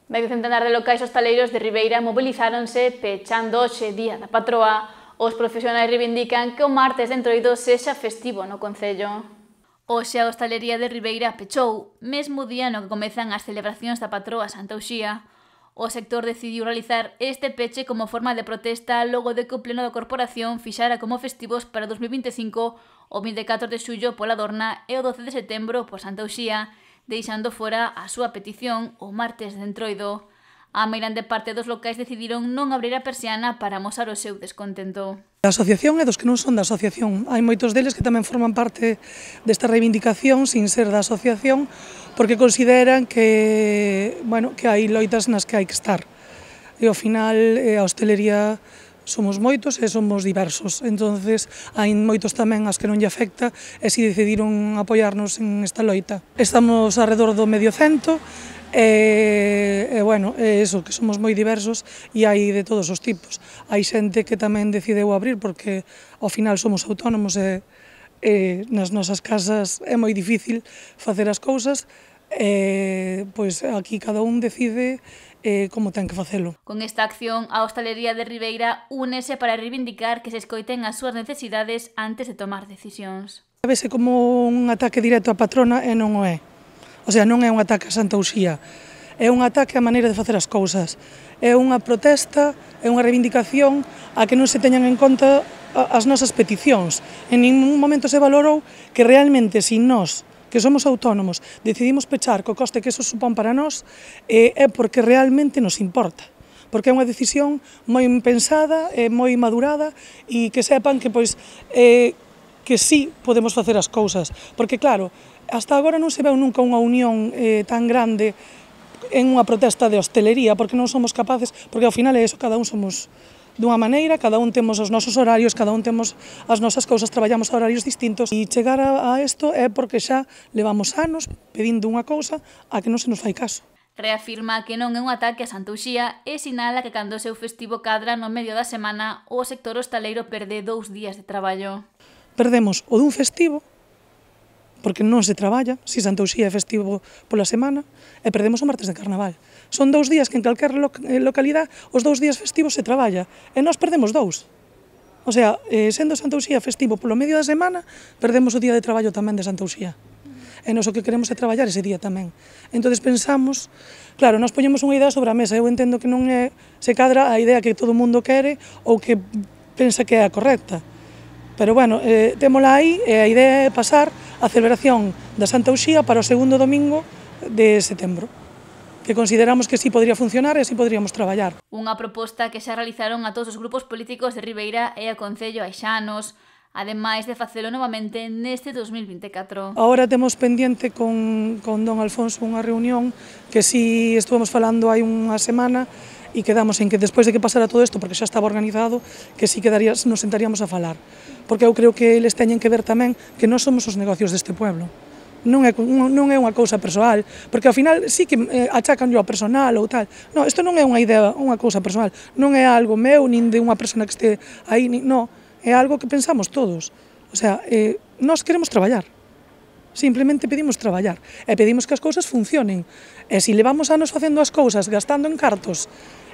Medio centenar de locais hostaleiros de Ribeira mobilizáronse pechando hoxe Día da Patroa. Os profesionais reivindican que o martes de Entroido sexa festivo no concello. Hoxe a hostalería de Ribeira pechou, mesmo día no que comezan as celebracións da patroa Santa Uxía. O sector decidiu realizar este peche como forma de protesta logo de que o pleno da corporación fixara como festivos para 2025 o 24 de xullo pola Dorna e o 12 de setembro por Santa Uxía, deixando fora a súa petición o martes de Entroido. A meirande parte dos locais decidiron non abrir a persiana para amosar o seu descontento. A asociación é dos que non son da asociación. Hai moitos deles que tamén forman parte desta reivindicación sin ser da asociación porque consideran que, que hai loitas nas que hai que estar. E ao final a hostelería somos moitos e somos diversos, entonces hai moitos tamén as que non lle afecta e si decidiron apoiarnos en esta loita. Estamos alrededor do medio cento e eso, que somos moi diversos e hai de todos os tipos. Hai xente que tamén decideu abrir porque ao final somos autónomos e nas nosas casas é moi difícil facer as cousas pois aquí cada un decide como ten que facelo. Con esta acción, a hostalería de Ribeira únese para reivindicar que se escoiten as súas necesidades antes de tomar decisións. Vese como un ataque directo á patrona e non o é. O sea, non é un ataque a Santa Uxía, é un ataque á maneira de facer as cousas. É unha protesta, é unha reivindicación a que non se teñan en conta as nosas peticións. En ningún momento se valorou que realmente sin nós, que somos autónomos, decidimos pechar co coste que eso supón para nós, é porque realmente nos importa. Porque é unha decisión moi pensada, moi madurada e que sepan que que sí podemos facer as cousas. Porque claro, hasta agora non se veu nunca unha unión tan grande en unha protesta de hostelería, porque non somos capaces, porque ao final é eso, cada un somos dunha maneira, cada un temos os nosos horarios, cada un temos as nosas cousas, traballamos a horarios distintos e chegar a isto é porque xa levamos anos pedindo unha cousa a que non se nos fai caso. Reafirma que non é un ataque a Santa Uxía e sinala que cando o seu festivo cadra no medio da semana o sector hostaleiro perde 2 días de traballo. Perdemos o dun festivo, porque non se traballa, se Santa Uxía é festivo pola semana, e perdemos o martes de Carnaval. Son 2 días que en calquer localidade os 2 días festivos se traballa, e nós perdemos 2. O sea, sendo Santa Uxía festivo polo medio da semana, perdemos o día de traballo tamén de Santa Uxía. E nós o que queremos é traballar ese día tamén. Entón pensamos, claro, nós poñemos unha idea sobre a mesa, eu entendo que non se cadra a idea que todo o mundo quere ou que pensa que é a correcta. Pero témola aí e a idea é pasar a celebración da Santa Uxía para o segundo domingo de setembro, que consideramos que sí podría funcionar e así podríamos traballar. Unha proposta que xa realizaron a todos os grupos políticos de Ribeira e a Concello hai xa anos, ademais de facelo novamente neste 2024. Agora temos pendiente con don Alfonso unha reunión que si estuvemos falando hai unha semana e quedamos en que despois de que pasara todo isto, porque xa estaba organizado, que si nos sentaríamos a falar. Porque eu creo que eles teñen que ver tamén que nós somos os negocios deste pueblo. Non é unha cousa persoal, porque ao final sí que achacan ao personal ou tal. Non, isto non é unha idea, unha cousa personal, non é algo meu, nin de unha persona que este aí, non, é algo que pensamos todos. O sea, nós queremos traballar. Simplemente pedimos traballar e pedimos que as cousas funcionen. E se levamos anos facendo as cousas, gastando en cartos,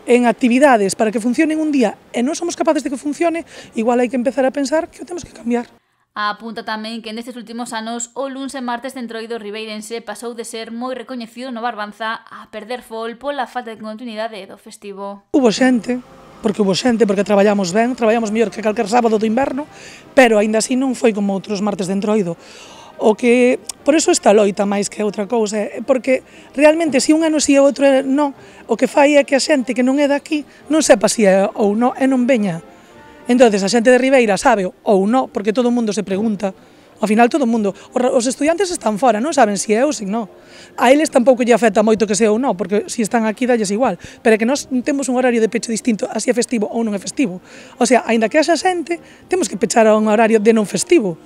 en actividades para que funcionen un día e non somos capaces de que funcione, igual hai que empezar a pensar que o temos que cambiar. Apunta tamén que nestes últimos anos o luns e martes de Entroido ribeirense pasou de ser moi recoñecido no Barbanza a perder fol pola falta de continuidade do festivo. Hubo xente, porque traballamos ben, traballamos mellor que calquer sábado do inverno, pero aínda así non foi como outros martes de Entroido. Por eso esta loita máis que outra cousa, porque realmente se un ano si e outro non, o que fai é que a xente que non é daqui non sepa si é ou non e non veña. Entón, a xente de Ribeira sabe ou non, porque todo o mundo se pregunta. Ao final todo o mundo, os estudiantes están fora, non saben se é ou se non. A eles tampouco lle afecta moito que se é ou non, porque se están aquí dalles igual, pero é que nós temos un horario de peche distinto a se é festivo ou non é festivo. O sea, aínda que haxa xente, temos que pechar a un horario de non festivo.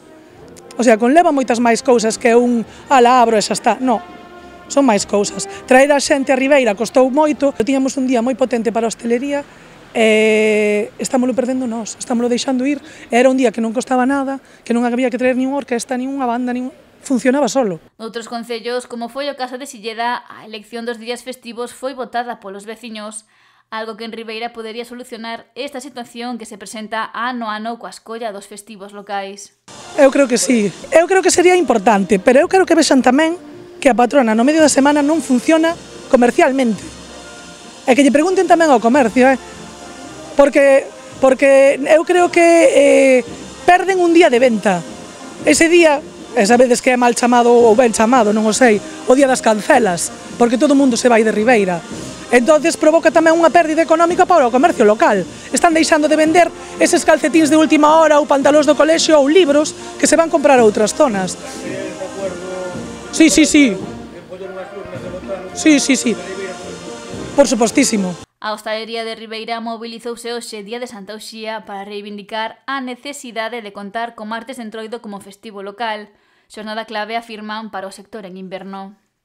O sea, conleva moitas máis cousas que ala abro e xa está. Non, son máis cousas. Traer a xente a Ribeira costou moito, tiñamos un día moi potente para a hostelería e estámoslo perdendo nós, estámoslo deixando ir. Era un día que non costaba nada, que non había que traer nin unha orquesta, nin unha banda, funcionaba solo. Noutros concellos, como foi o caso de Silleda, a elección dos días festivos foi votada polos veciños, algo que en Ribeira podería solucionar esta situación que se presenta ano a ano coa escolla dos festivos locais. Eu creo que sí, eu creo que sería importante, pero eu quero que vexan tamén que a patrona no medio da semana non funciona comercialmente. E que lle pregunten tamén ao comercio, porque eu creo que perden un día de venta. Ese día, e sabedes que é mal chamado ou ben chamado, non o sei, o día das cancelas, porque todo o mundo se vai de Ribeira. Entonces provoca tamén unha pérdida económica para o comercio local. Están deixando de vender eses calcetíns de última hora ou pantalóns do colexio ou libros que se van comprar a outras zonas. Sí. Sí. Por supostísimo. A hostalería de Ribeira mobilizouse hoxe día de Santa Uxía para reivindicar a necesidade de contar co martes de Entroido como festivo local, xornada clave afirman para o sector en inverno.